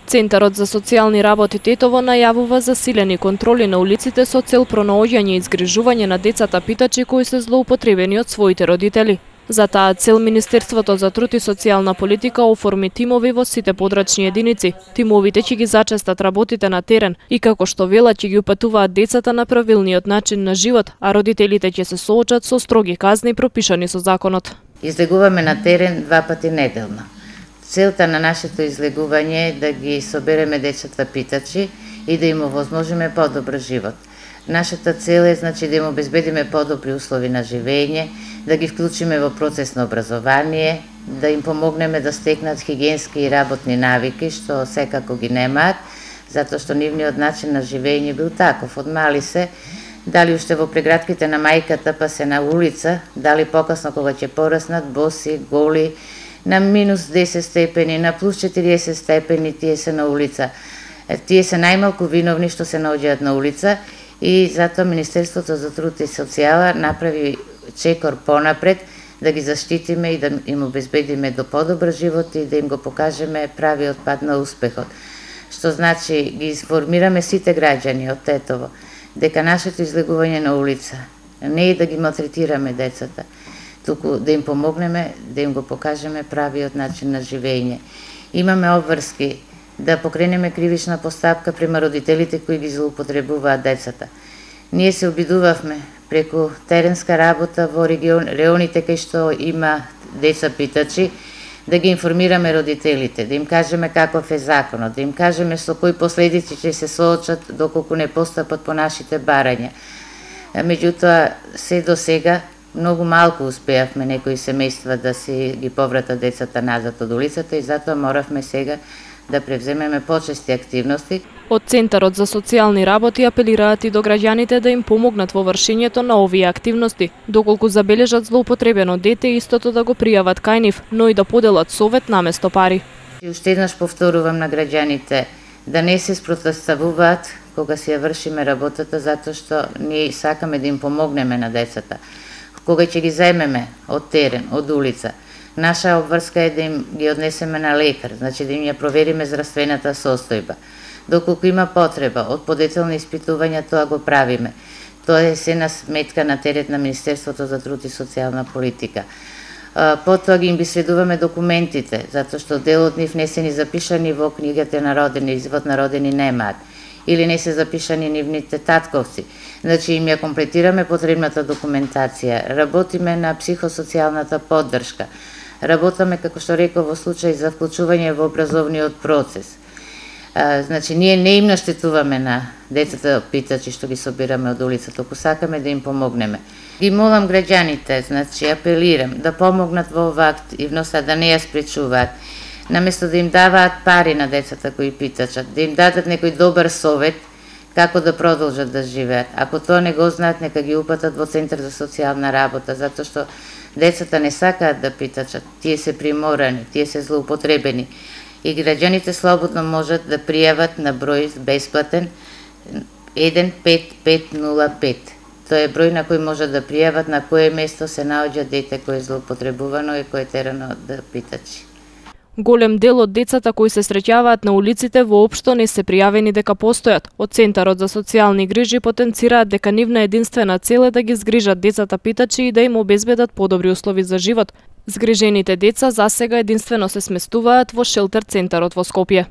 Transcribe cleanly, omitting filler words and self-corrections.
Центарот за социјални работи Тетово најавува засилени контроли на улиците со цел пронаоѓање и згрижување на децата питачи кои се злоупотребени од своите родители. За таа цел Министерството за труд и социјална политика оформи тимови во сите подрачни единици. Тимовите ќе ги зачестат работите на терен и како што велат ќе ги упатуваат децата на правилниот начин на живот, а родителите ќе се соочат со строги казни пропишани со законот. Излегуваме на терен 2 пати неделно. Целта на нашето излегување е да ги собереме децата питачи и да им овозможиме подобар живот. Нашата цел е да им обезбедиме подобри услови на живење, да ги вклучиме во процес на образование, да им помогнеме да стекнат хигиенски и работни навики, што секако ги немаат, затоа што нивниот начин на живење бил таков. Од мали се, дали уште во прегратките на мајката, па се на улица, дали покасно кога ќе пораснат, боси, голи, на минус 10 степени, на плюс 40 степени, тие се на улица. Тие се најмалку виновни што се наоѓаат на улица и затоа Министерството за труд и социјала направи чекор понапред да ги заштитиме и да им обезбедиме до подобар живот и да им го покажеме правиот пат на успехот. Што значи ги информираме сите граѓани од Тетово дека нашето излегување на улица не е да ги малтретираме децата, туку да им помогнеме, да им го покажеме правиот начин на живење. Имаме обврски да покренеме кривична постапка према родителите кои ги злоупотребуваат децата. Ние се обидувавме преку теренска работа во регионите кај што има деца питачи, да ги информираме родителите, да им кажеме каков е законот, да им кажеме со кои последици ќе се соочат доколку не постапат по нашите барања. Меѓутоа, се до сега многу малку успеавме некои семејства да си ги повратат децата назад од улицата и затоа моравме сега да превземеме почести активности. Од Центарот за социјални работи апелираат и до граѓаните да им помогнат во вршењето на овие активности. Доколку забележат злоупотребено дете, истото да го пријават кај нив, но и да поделат совет наместо пари. И уште еднаш повторувам на граѓаните да не се спротивставуваат кога си ја вршиме работата, затоа што ние сакаме да им помогнеме на децата. Кога ќе ги заемеме од терен, од улица, наша обврска е да им ги однесеме на лекар, значи да им ја провериме здравствената состојба. Доколку има потреба од подетелни испитувања, тоа го правиме. Тоа е се на сметка на терет на Министерството за труд и социјална политика. Потоа ги им следуваме документите, затоа што дел од нив не се ни запишани во книгата на родени, извод на родени немаат, или не се запишани нивните татковци. Значи им ја комплетираме потребната документација, работиме на психосоцијалната поддршка, работаме, како што реков, во случај за вклучување во образовниот процес. Значи, ние не им наштетуваме на децата питачи што ги собираме од улица, току сакаме да им помогнеме. Ги молам граѓаните, значи, апелирам да помогнат во оваа активност, да не ја спречуваат. Наместо да им даваат пари на децата кои питачат, да им дадат некој добар совет како да продолжат да живеат. Ако тоа не го знаат, нека ги упатат во Центар за социјална работа, затоа што децата не сакаат да питачат, тие се приморани, тие се злоупотребени. И граѓаните слободно можат да пријават на број бесплатен 15505. Тоа е број на кој можат да пријават на кое место се наоѓа дете кое е злоупотребувано и кое е терано да питачи. Голем дел од децата кои се среќаваат на улиците воопшто не се пријавени дека постојат. Од Центарот за социјални грижи потенцираат дека нивна единствена цел е да ги згрижат децата питачи и да им обезбедат подобри услови за живот. Згрижените деца засега единствено се сместуваат во шелтер Центарот во Скопје.